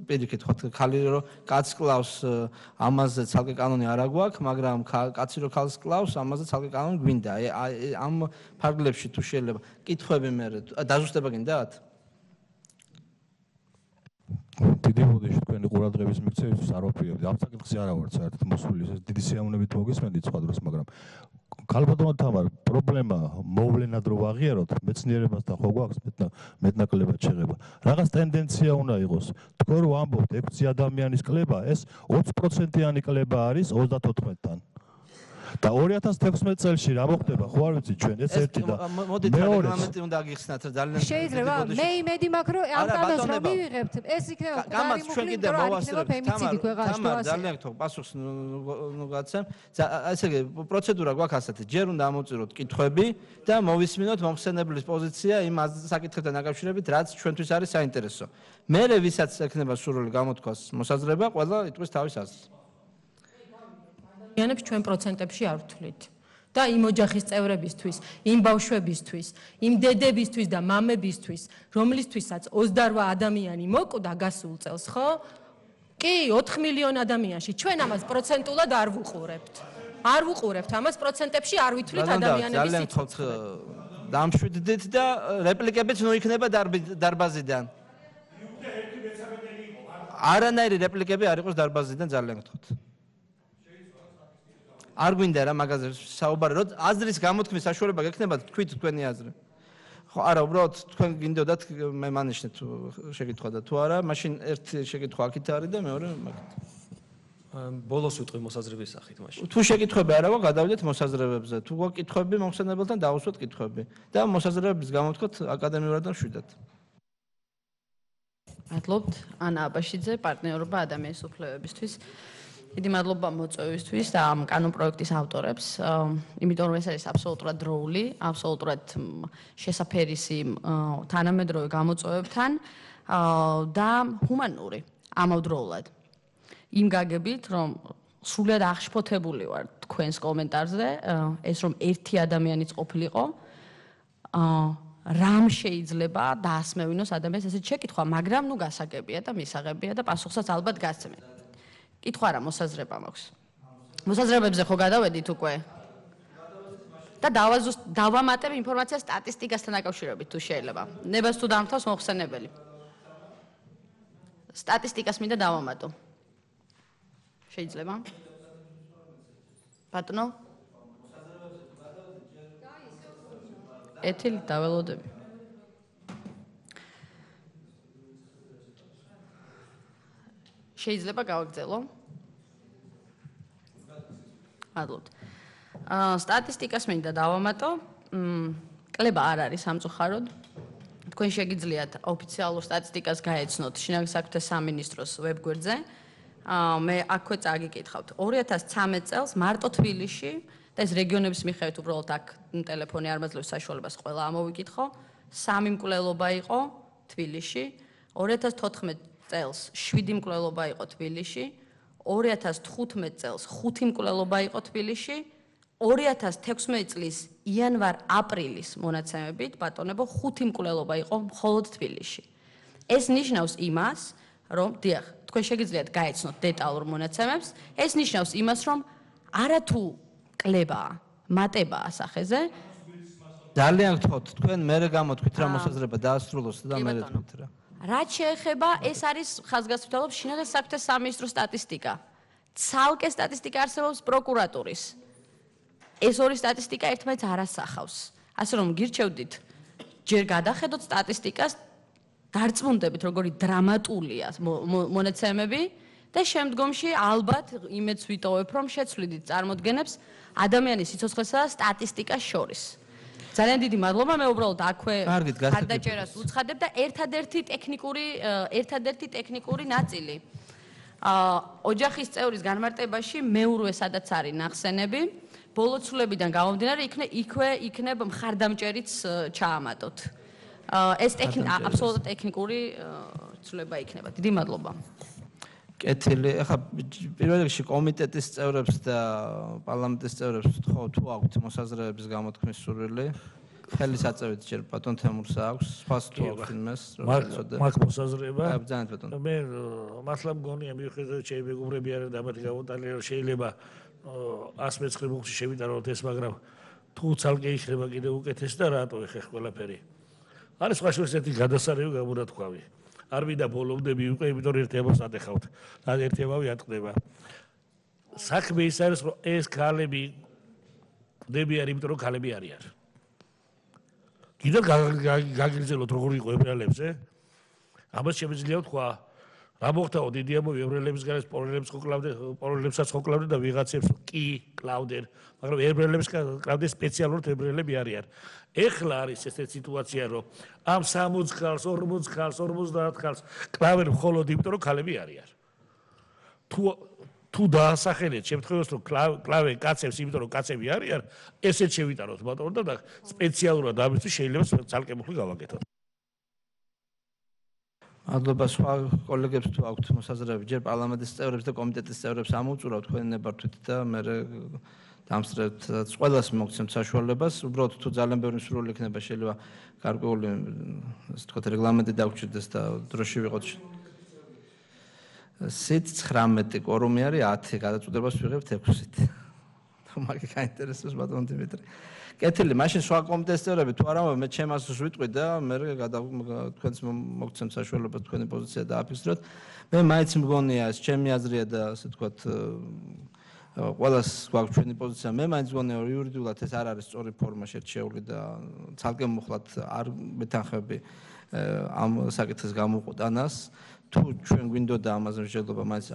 პირიქით ხო ხალი რო კაცს კლავს ამაზე ცალკე კანონი არა გვაქვს, მაგრამ კაცი რო ხალს კლავს ამაზე ცალკე კანონი გვინდა. ამ ფარგლებში თუ შეიძლება კითხვები მე დაზუსტება გინდათ? დიდი მოდიში თქვენი ყურადღების მიქცევისთვის არ ვაფრთხილებ. ამ საკითხზე არა ვარ საერთოდ მოსული, ეს დიდი სიამოვნებით მოგესმენდით სხვა დროს, მაგრამ ქალბატონო თამარ, პრობლემა მოვლენად რო ვაღიაროთ, მეცნიერებასთან ხო გვაქვს მეტნაკლებად შეღება. რაღაც ტენდენცია უნდა იყოს. თქვენ რო ამბობთ 6 ადამიანის კლება, ეს 20%-იანი კლება არის 34-თან. და 2016 წელს რა მოხდება, ხო არ ვიცი ჩვენ ეს ერთი და მოდით რეგლამენტი უნდა აგიხსნათ რა ძალიან შეიძლება მე იმედი მაქვს რომ ამ კანონს რომ მივიღებთ ეს იქნება გამაც ჩვენ კიდე მოვასწრებთ თამარ ძალიან გთხოვ პასუხს ნუ გაცემ ესე იგი პროცედურა გვაქვს ასეთი ჯერ უნდა ამოწიროთ კითხვები და მოვისმინოთ მომხსენებლის პოზიცია იმ საკითხებთან დაკავშირებით რაც ჩვენთვის არის საინტერესო მერე ვისაც ექნება სურვილი გამოთქვას მოსაზრება ყველა იტყვის თავის აზრსიანებს ჩვენ პროცენტებში არ ვთვლით და იმ ოჯახის წევრებისთვის, იმ ბავშვებისთვის, იმ დედებისთვის და მამებისთვის, რომლისთვისაც 28 ადამიანი მოკვდა გასულ წელს, ხო? კი, 4 მილიონი ადამიანში ჩვენ ამას პროცენტულად არ ვუყურებთ. არ ვუყურებთ ამას პროცენტებში არ ვითვლით ადამიანების სიცოცხლეს. დამშვიდდით და რეპლიკებიც ნუ იქნება დარბაზიდან. არანაირი რეპლიკები არ იყოს დარბაზიდან ძალიან გთხოვთ. არ გვინდა რა მაგაზე საუბარი რომ აზრის გამოთქმის საშუალება გექნება თქვით თქვენი აზრი. ხო არა უბრალოდ თქვენ გინდოდათ მე მანიშნეთ შეკითხვა და თუ არა მაშინ ერთი შეკითხვა აქეთ არის და მეორე მაგით. ბოლოს ვიტყვი მოსაზრების სახით მაშინ. თუ შეკითხვები არა გვაქვს გადავიდეთ მოსაზრებებზე. თუ გვაქვს კითხვები მომხსენებელთან დავუსვათ კითხვები და მოსაზრებების გამოთქვათ აკადემიურად და მშვიდად. მადლობთ ანა აბაშიძე პარტნიორობა ადამიანის უფლებებისთვის. დიდი მადლობა მოწვევისთვის და ამ კანონ პროექტის ავტორებს. იმიტომ რომ ეს არის აბსოლუტურად დროული, აბსოლუტურად შესაფერისი თანამედროვე გამოწვევებთან და ჰუმანური ამავდროულად. იმ გაგებით, რომ სრულად აღშფოთებული ვარ თქვენს კომენტარზე, ეს რომ ერთი ადამიანიც ყოფილიყო, რამ შეიძლება დაასმევინოს ადამიანს ესეთ შეკითხვა, მაგრამ ნუ გასაგებია და მისაღებია და პასუხსაც ალბათ გასცემენ. კითხვა რა მოსაზრება მაქვს. მოსაზრებებზე ხო გადავედით უკვე? და დავამატებ ინფორმაციას სტატისტიკასთან დაკავშირებით თუ შეიძლება. ნებას თუ დამთავს მოხსენებელი. სტატისტიკას მინდა დავამატო. შეიძლება? ბატონო? ეთილი დაველოდები. შეიძლება გავაგრძელო? მადლობთ. სტატისტიკას მინდა დავამატო. კლება არ არის სამწუხაროდ. თქვენ შეგიძლიათ ოფიციალურ სტატისტიკას გაეცნოთ შინაგან საქმეთა სამინისტროს ვებგვერდზე. მე აქვე წაგიკითხავთ. 2013 წელს მარტო თბილისში და ეს რეგიონების მიხედვით უბრალოდ აქ ტელეფონი არ მაძლევს საშუალებას ყველა ამოვიკითხო. 3 მკვლელობა იყო თბილისში. 2014 წელს 7 მკვლელობა იყო თბილისში, 2015 წელს 5 მკვლელობა იყო თბილისში, 2016 წლის იანვარ-აპრილის მონაცემებით ბატონებო 5 მკვლელობა იყო მხოლოდ თბილისში. ეს ნიშნავს იმას, რომ დიახ, თქვენ შეგიძლიათ გაეცნოთ დეტალურ მონაცემებს, ეს ნიშნავს იმას, რომ არათუ კლებაა, მატებაა სახეზე. ძალიან გთხოვთ, თქვენ მერე გამოთქვით რა მოსაზრება დაასრულოს და მერე თქვით რა. რაც შეეხება, ეს არის ხაზგასმთავრობის შინაგან საქმეთა სამინისტროს სტატისტიკა. ცალკე სტატისტიკა არსებობს პროკურატურის. ეს ორი სტატისტიკა ერთმანეთს არ ასახავს. ასე რომ გირჩევდით, ჯერ გადახედოთ სტატისტიკას, დარწმუნდებით, როგორი დრამატულია მონაცემები და შემდგომში ალბათ იმედს ვიტოვებ, რომ შეცვლიდით წარმოდგენებს ადამიანის სიცოცხლესა და სტატისტიკას შორის. ძალიან დიდი მადლობა, მე უბრალოდ აქვე ხარდაჭერას უცხადებ და ერთადერთი ტექნიკური ნაწილი. ოჯახის წევრის განმარტებაში მეურვე სადაც არის ნახსენები, ბოლო ცვლილებიდან გამომდინარე იქვე იქნებ მხარდამჭერიც ჩაამატოთ. ეს აბსოლუტურად ტექნიკური ცვლილება იქნება. დიდი მადლობა. კეთილი, ახლა პირველ რიგში კომიტეტის წევრებს და პარლამენტის წევრებს ვთხოვ, თუ აქვთ მოსაზრებების გამოთქმის სურვილი, ხელის აწევით ჯერ ბატონ თემურს აქვს, სხვას თუ აქვთ იმას, მაგ მოსაზრება. ძალიან ბატონო. მე მართლა მგონია მიუხედავად ჩემი მეგობრები არიან დამატი გამოტანილი, რომ შეიძლება 119 მუხში შევიტანოთ ეს, მაგრამ თუ ცალკე იქნება კიდევ უკეთესი და რატო ეხა ყველაფერი. არის სხვა შორის ერთი გადასარევი გამონათქვამი. არ მინდა ბოლომდები უკვე, იმიტომ რომ ერთი ამას ატეხავთ. და ერთი ამავე ატყდება. საქმე ის არის, რომ ეს ქალები დებიან, იმიტომ რომ ქალები არიან. კიდევ გაგიგზელოთ როგორ იყო ებრაელებზე? ამას შემიძლია ვთქვა. რა მოხდაო დიდი ამბავი ებრაელების გარეთ პოლონელებსაც ხოკლავდნენ და ვიღაცებს კი კლავდნენ, მაგრამ ებრაელებს კლავდნენ სპეციალურად ებრაელები არიან. ეხლა არის ეს სიტუაცია, რომ ამ 60 ხალს, 40 ხალს, 50 ხალს კლავენ მხოლოდ იმიტომ, რომ ქალები არიან. თუ დაასახელეთ შემთხვევას, რომ კლავენ კაცებს, იმიტომ რომ კაცები არიან, ესეც შევიტანოთ ბატონო და სპეციალურად ამისთვის შეიძლება ცალკე მუხლი გავაკეთოთ. მადლობა სხვა კოლეგებს თუ აქვთ მოსაზრებები, ჯერ პარლამენტის წევრებს და კომიტეტის წევრებს ამოვწურავთ თქვენი ნებართვით და მე დამსწრებთ ყველას მოგცემთ საშუალებას, უბრალოდ თუ ძალიან ბევრი სურვილი იქნება, შეიძლება გარკვეული ასე ვთქვათ რეგლამენტი დაგვრჩიდეს და დროში ვიყოთ. სით 19 კვორუმი არის 10, გადაწყვეტებას ვიღებთ 6-ით. მაგ გაინტერესებს ბატონ დიმიტრი. კეთილი, მაშინ სხვა კომიტეტის წევრები თუ არა, მე ჩემს ვიტყვი და მე თქვენს მოგცემთ საშუალებას თქვენი პოზიცია დააფიქსიროთ. მე მაინც მგონია ეს ჩემი აზრია და ასე ვთქვათ ყველას გვაქვს ჩვენი პოზიცია. მე მაინც მგონია რომ იურიდიულად ეს არ არის სწორი ფორმა შერჩეული და ცალკე მუხლად არ მეთანხმები ამ საკითხის გამოყენას. თუ ჩვენ გვინდოდა ამაზე მსჯელობა მაინც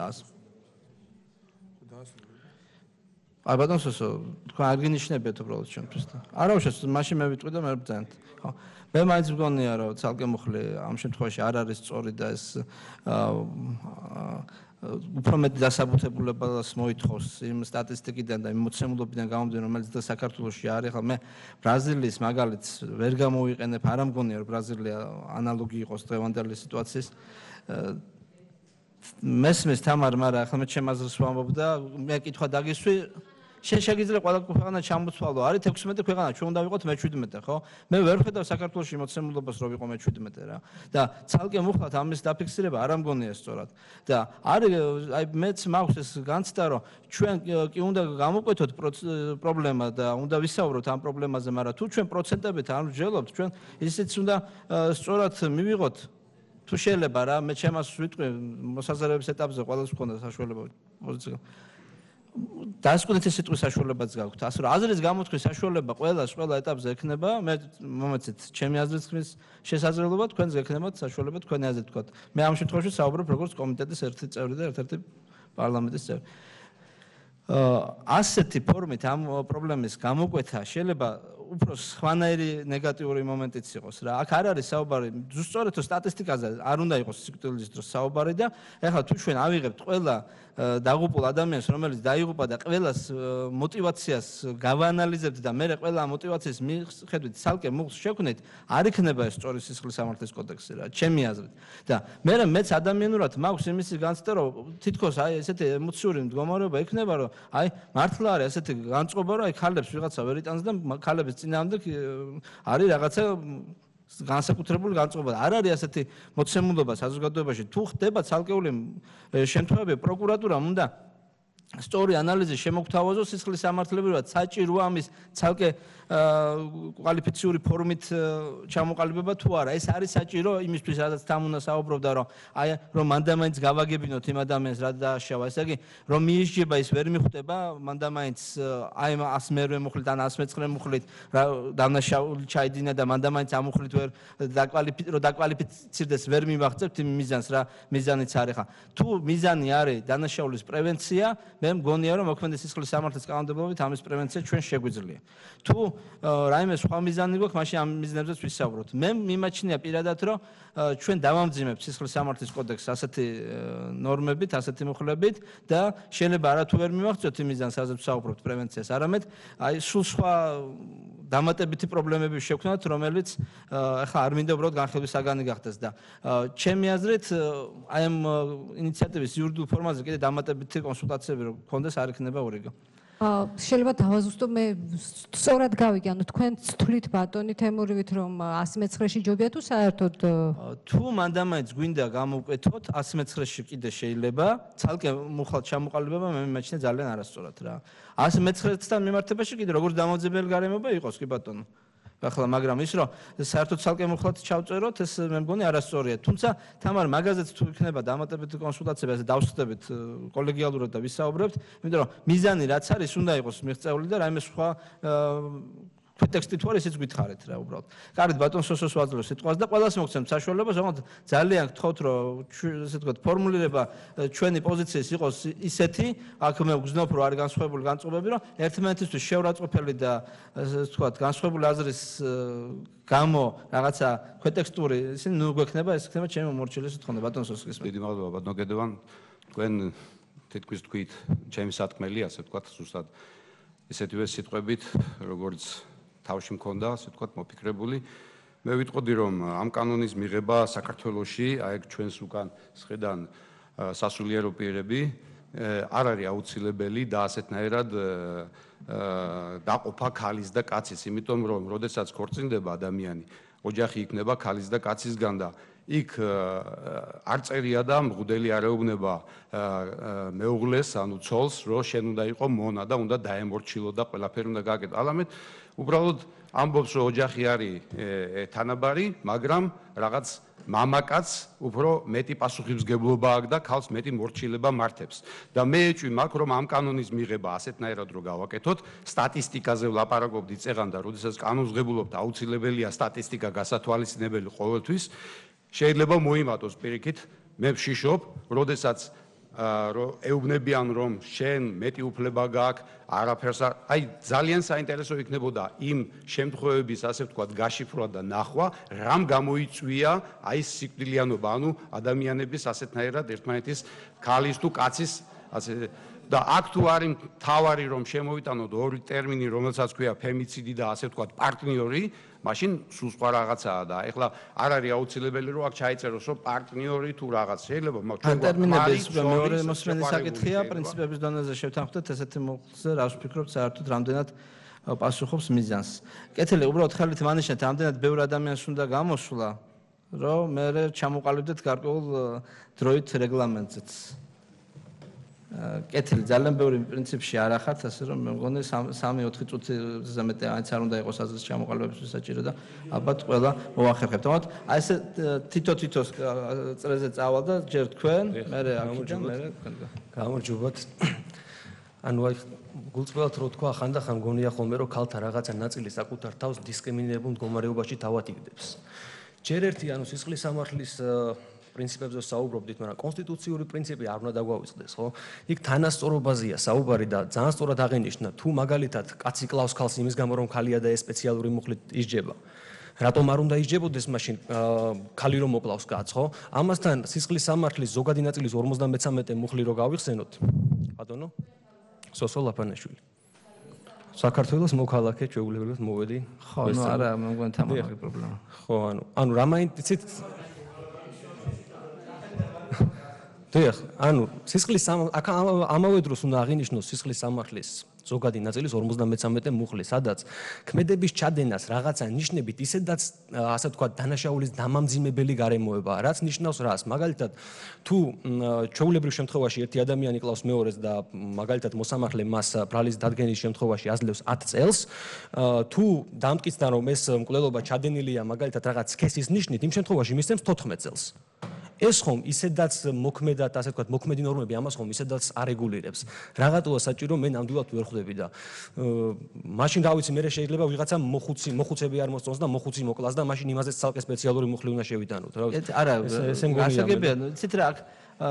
აი ბატონ სოსო, თქვენ არ გინიშნებიათ უბრალოდ ჩვენთვის და არა უშავს, მაშინ მე ვიტყვი და მე ვბრძანეთ. ხო. მე მაინც მგონია რომ ცალკე მუხლი ამ შემთხვევაში არ არის სწორი და ეს უფრო მეტ დასაბუთებულებას მოითხოვს იმ სტატისტიკიდან და იმ მოცემულობიდან გამომდინარე, რომელიც და საქართველოში არის. ახლა მე ბრაზილიის მაგალითს ვერ გამოვიყენებ, არ მგონია რომ ბრაზილია ანალოგი იყოს დღევანდელი სიტუაციის. მესმის თამარ, მაგრამ ახლა მე ჩემ აზრს ვამბობ და მე კითხვა დაგისვი, შეიძლება ყველა ქვეყანა ჩამოთვალო, არის 16 ქვეყანა, ჩვენ უნდა ვიყოთ მე-17, ხო? მე ვერ ხედავ საქართველოში მოცემულობას რომ ვიყო მე-17 რა. და ცალკე მუხლად ამის დაფიქსირება არ ამგონია სწორად. და არის აი მეც მაქვს ეს განცდა რომ ჩვენ კი უნდა გამოკვეთოთ პრობლემა და უნდა ვისაუბროთ ამ პრობლემაზე, მაგრამ თუ ჩვენ პროცენტებით არ ვჯელობთ, ჩვენ ისიც უნდა სწორად მივიღოთ თუ შეიძლება რა, მე ჩემს ვიტყვი მოსაზრების ეტაპზე ყველას მქონდა საშუალება პოზიცია. დასკვნითი სიტყვის საშუალებაც გაქვთ. ასე რომ აზრის გამოთქმის საშუალება ყველა ეტაპზე ექნება, მე მომეცით ჩემი აზრის ხმის შესაძლებლობა, თქვენს ექნებათ საშუალება თქვენი აზრით თქვათ. მე ამ შემთხვევაში საუბრობ როგორც კომიტეტის ერთი წევრი და ერთ-ერთი პარლამენტის წევრი. ასეთი ფორმით ამ პრობლემის გამოკვეთა შეიძლება უფრო სხვანაირი ნეგატიური მომენტიც იყოს რა. აქ არ არის საუბარი ზუსტად სტატისტიკაზე, არ უნდა იყოს სიკვდილის დროს საუბარი და ეხლა თუ ჩვენ ავიღებთ ყველა დაღუპულ ადამიანს, რომელიც დაიღუპა და ყველას мотиваციას გავაანალიზებთ და მე ყველა мотивაციის მიხედვით ცალკე მუხლს შევქმნით, არ იქნება ეს სწორი სისხლის სამართლის კოდექსი რა, ჩემი აზრით. და მეც ადამიანურად მაქვს იმის განცდა, რომ თითქოს აი ესეთი ემოციური მდგომარეობა იქნება, რომ აი მართლა არის ესეთი განწყობა, რომ აი ქალებს ვიღაცა ვერ იტანს და ქალების წინააღმდეგ არის რაღაცა განსაკუთრებული განწყობა. არ არის ასეთი მოცემულობა საზოგადოებაში. თუ ხდება ცალკეული შემთხვევები, პროკურატურამ უნდა სწორი ანალიზი შემოგთავაზო სისხლის სამართლებრივად საჭიროა ამის ცალკე კვალიფიციური ფორმით ჩამოყალიბება თუ არა. ეს არის საჭირო იმისთვის, რადგან თან უნდა საუბრობდა, რომ მანდამაინც გავაგებინოთ იმ ადამიანს, რა დააშავა. ესე იგი, რომ მიისჯება ის ვერ მიხვდება, მანდამაინც აი 100 მერვე მუხლით ან 119 მუხლით დანაშაული ჩაიდინა და მანდამაინც ამ მუხლით ვერ დაკვალიფიცირდეს ვერ მიმაღწევთ იმ მიზანს, რა მიზანიც არის ხა. თუ მიზანი არის დანაშაულის პრევენცია, მე მგონია რომ მოქმედი სისხლის სამართლის კანონმდებლობით ამის პრევენცია ჩვენ შეგვიძლია. თუ რაიმე სხვა მიზანი გვაქვს, მაშინ ამ მიზნებზეც ვისაუბროთ. მე მიმაჩნია პირადად, რომ ჩვენ დავამძიმებთ სისხლის სამართლის კოდექსს ასეთი ნორმებით, ასეთი მუხლებით და შეიძლება არათუ ვერ მიმაღწევთ იმ მიზანს, რაზეც ვსაუბრობთ პრევენციას, არამედ აი სულ სხვა დამატებითი პრობლემები შევქმნათ, რომელიც ახლა არ მინდა უბრალოდ განხილვის საგანი გახდეს და ჩემი აზრით აი ამ ინიციატივის იურიდიულ ფორმაზე კიდე დამატებითი კონსულტაციები რო გქონდეს არ იქნება ურიგო. შეიძლება დავაზუსტო მე სწორად გავიგე, ანუ თქვენ თვლით ბატონი თემურივით რომ 119-ში ჯობია თუ საერთოდ თუ მანდამაინც გვინდა გამოვკეთოთ 119-ში კიდე შეიძლება ცალკე მუხლად ჩამოყალიბება მე მიმაჩნია ძალიან არასწორად რა 119-თან მიმართებაში კიდე როგორც დამოძებელი გარემოება იყოს კი ბატონო ახლა მაგრამ ის რომ საერთოდ ცალკე მუხლად ჩავწეროთ ეს მე მგონი არასწორია თუმცა თამარ მაგაზეც თუ იქნება დამატებითი კონსულტაციები ასე დავსხდებით კოლეგიალურად და ვისაუბრებთ იმიტომ რომ მიზანი რაც არის უნდა იყოს მიღწეული და რაიმე სხვა ტექსტი თუ არის ისიც გითხარით რა უბრალოდ. კარგად ბატონ სოსოს ვაძლევ სიტყვას და ყველას მოგცემთ საშუალებას, თუმცა ძალიან გთხოვთ რომ ესე ვთქვათ ფორმულირება ჩვენი პოზიციის იყოს ისეთი, აქ მე ვგზნობ რომ არის განსხვავებული განწყობები, რომ ერთმანეთისთვის შეურაცხყოფელი და ესე ვთქვათ განსხვავებული აზრის გამო რაღაცა ქვეტექსტური ისინი ნუ გვექნება, ეს იქნება ჩემი მომორჩილი სიტყვა ბატონ სოსის. დიდი მადლობა ბატონო გედევან. თქვენ თითქოს თქვით ჩემი სათქმელი, ასე ვთქვათ, ზუსტად ესეთივე სიტყვებით, როგორც თავში მქონდა, ასე ვთქვათ, მოფიქრებული. მე ვიტყოდი, რომ ამ კანონის მიღება საქართველოში, აი ჩვენს უკან სხედან სასულიერო პირები არ არის აუცილებელი და ასეთნაირად დაყოფა ქალის და კაცის, იმიტომ რომ როდესაც ქორწინდება ადამიანი, ოჯახი იქნება ქალის და კაცისგან და იქ არ წერია და მღვდელი არ ეუბნება მეუღლეს, ანუ ცოლს, რომ შენ უნდა იყო მონა და უნდა დაემორჩილო და ყველაფერი უნდა გააკეთო. ალამეთ უბრალოდ ამბობს, რომ ოჯახი არის თანაბარი, მაგრამ რაღაც მამაკაც უფრო მეტი პასუხისმგებლობა აქვს და ქალს მეტი მორჩილება მართებს. და მე ეჭვი მაქვს, რომ ამ კანონის მიღება ასეთნაირად რო გავაკეთოთ, სტატისტიკაზე ვლაპარაკობდი წეღან და როდესაც კანონს ღებულობთ, აუცილებელია სტატისტიკა გასათვალისწინებელი ყოველთვის. შეიძლება მოიმატოს პირიქით, მე ვშიშობ, როდესაც ეუბნებიან რომ შენ მეტი უფლება გაქვს, არაფერს აი ძალიან საინტერესო იქნებოდა იმ შემთხვევების ასე ვთქვათ გაშიფრვა და ნახვა, რამ გამოიწვია აი სიკვდილიანობა, ანუ ადამიანების ასეთნაირად ერთმანეთის ქალის თუ კაცის ასე და აქ თუ არის თავარი რომ შემოვიტანოთ ორი ტერმინი, რომელსაც ქვია ფემიციდი და ასე ვთქვათ პარტნიორი, მაშინ სულ სხვა რაღაცაა და ეხლა არ არის აუცილებელი რომ აქ ჩაიწეროს რომ პარტნიორი თუ რაღაც შეიძლება ჩვენ ტერმინების მეორე მოსმენის საკითხია პრინციპების დონეზე შევთანხმდეთ ესეთი მოხზე რა ვფიქრობთ საერთოდ რამდენად პასუხობს მიზანს კეთილი უბრალოდ ხელით მანიშნეთ რამდენად ბევრი ადამიანს უნდა გამოსვლა რომ მე ჩამოყალიბდეთ გარკვეულ დროით რეგლამენტზეც კეთილი ძალიან ბევრი პრინციპში არ ახართ ასე რომ მე მგონი 3-4 წუთზე მეტი აიც არ უნდა იყოს აზრის ჩამოყალიბების საჭირო და ალბათ ყველა მოახერხებთ. თუმცა აი ესე თითო-თითოს წრეზე წავალ და ჯერ თქვენ, მე აქედან მე თქვენგან. გამარჯობათ. ანუ აი გულწრფელად რო თქვა ხანდახან გონია ხოლმე რომ ქალთა რაღაცა ნაწილი საკუთარ თავს დისკრიმინირებულ მდგომარეობაში თავათიგდებს. ჯერ ერთი ანუ სისხლის სამართლის პრინციპებზე საუბრობდით, მაგრამ კონსტიტუციური პრინციპი არ უნდა დაგვავიწყდეს, ხო? იქ თანასწორობაზეა საუბარი და ძალიან სწორად აღინიშნა, თუ მაგალითად კაცი კლავს ქალს იმის გამო რომ ქალია და ეს სპეციალური მუხლით ისჯება. რატომ არ უნდა ისჯებოდეს მაშინ ქალი რომ მოკლავს კაცს, ხო? ამასთან სისხლის სამართლის ზოგადი ნაწილის 53 მუხლი რო გავიხსენოთ. ბატონო? სოსო ლაპანაშვილი. საქართველოს მოქალაქე ჩვეულებრივად მოვედი. ხო, ნუ არა, მე მგონი თამამაგი პრობლემა. ხო, ანუ რა მაინცით დიახ, ანუ სისხლის ამავე დროს უნდა აღინიშნოს სისხლის სამართლის ზოგადი ნაწილის 53 მუხლი, სადაც ქმედების ჩადენას რაღაცა ნიშნებით ისედაც ასე ვთქვათ დანაშაულის დამამძიმებელი გარემოებაა, რაც ნიშნავს რას? მაგალითად, თუ ჩვეულებრივ შემთხვევაში ერთი ადამიანი კლავს მეორეს და მაგალითად მოსამართლე მას ბრალის დადგენის შემთხვევაში აძლევს 10 წელს, თუ დამტკიცდა რომ ეს მკვლელობა ჩადენილია მაგალითად რაღაც სქესის ნიშნით, იმ შემთხვევაში მისცემს 14 წელს. ეს ხომ ისედაც მოქმედად, ასე ვთქვათ, მოქმედი ნორმები ამას ხომ ისედაც არეგულირებს. რაღაცაა საჭირო, მე ნამდვილად ვერ ხვდები და მაშინ რა ვიცი, მე შეიძლება ვიღაცა მოხუცები არ მოსწონს და მოხუცი მოკლას და მაშინ იმაზეც ცალკე სპეციალური მუხლი უნდა შევიტანოთ, რა ვიცი. არა, გასაგებია, იცით რა,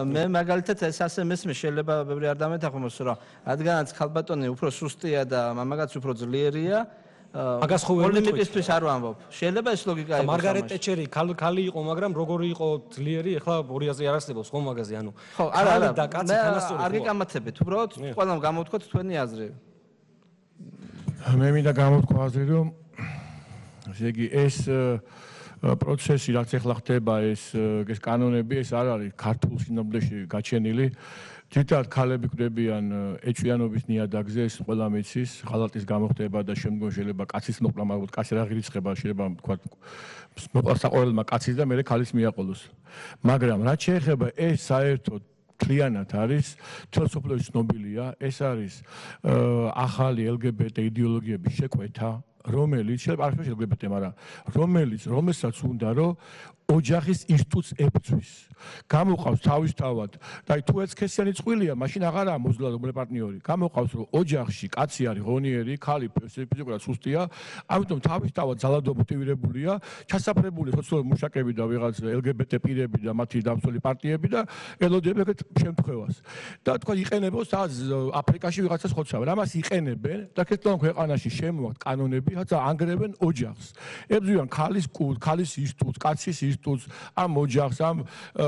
მე მაგალითად ეს ასე მესმის, შეიძლება ბევრი არ დამეთანხმოს, რომ რადგანაც ხალბატონი უფრო სუსტია და მამაკაც უფრო ძლიერია, მაგას ხო ვერ პოლემიკისთვის არ ვამბობ. შეიძლება ეს ლოგიკა იყოს. მარგარეტ ტეჩერი ქალი იყო, მაგრამ როგორი იყო ძლიერი, ეხლა 200-ზე არ არსებობს ხომ მაგაზე, ანუ ხო, არა, და კაცი თანასწორი ხო? არ გიკამათებით, უბრალოდ ყველამ გამოვთქვათ თქვენი აზრი. მე მინდა გამოვთქვა აზრი, რომ ესე იგი ეს პროცესი, რაც ახლა ხდება, ეს კანონები, ეს არ არის ქართულ სინამდვილეში გაჩენილი. თითქოს ქალები კვდებიან ეჭვიანობის ნიადაგზე, ეს ყველა მიცის, ღალატის გამოხდება და შემდგომ შეიძლება კაცის მოკლა, მაგრამ კაცი რა ღირიცხება, შეიძლება თქვა მოკლა საყოველმა კაცის და მერე ქალის მიაყოლოს. მაგრამ რაც შეეხება ეს საერთოდ მთლიანად არის, თელ სოფლიოში ცნობილია, ეს არის ახალი LGBT იდეოლოგიების შეკვეთა, რომელიც შეიძლება არ შეიძლება LGBT, მაგრამ რომელსაც უნდა რომ ოჯახის ინსტიტუტს ებრძვის. გამოყავს თავისთავად და თუ ეცქესიანი წყვილია, მაშინ აღარაა მოზლა რომელი პარტნიორი. გამოყავს რომ ოჯახში კაცი არის ღონიერი, ქალი ფიზიკურად სუსტია, ამიტომ თავისთავად ძალადობა მოტივირებულია, ჩასაფრებული სოციალური მუშაკები და ვიღაც LGBT პირები და მათი დამცველი პარტიები და ელოდებენ ეგეთ შემთხვევას. და თქვა იყენებენ სადაც აფრიკაში ვიღაცას ხოცავენ. ამას იყენებენ და ქრისტიან ქვეყანაში შემოაქვთ კანონები, რაცა ანგრევენ ოჯახს. ებრძვიან ქალის კულტს, ქალის ინსტიტუტს, კაცის ინსტიტუტს, ამ ოჯახს, ამ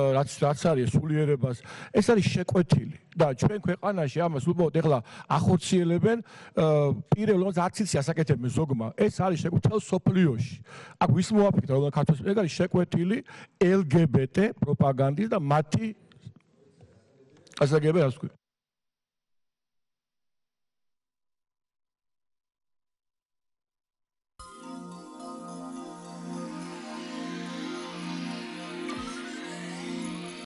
რაც არის სულიერებას, ეს არის შეკვეთილი და ჩვენ ქვეყანაში ამას უბრალოდ ეხლა ახორციელებენ პირები, რომელსაც არც იცი ასაკეთებენ ზოგმა. ეს არის შეკვეთილი სოფლიოში. აქ ვის მოაფიქრა, რომ ქართულში ეგ არის შეკვეთილი LGBT პროპაგანდის და მათი ასაგებია, ასე ვთქვი.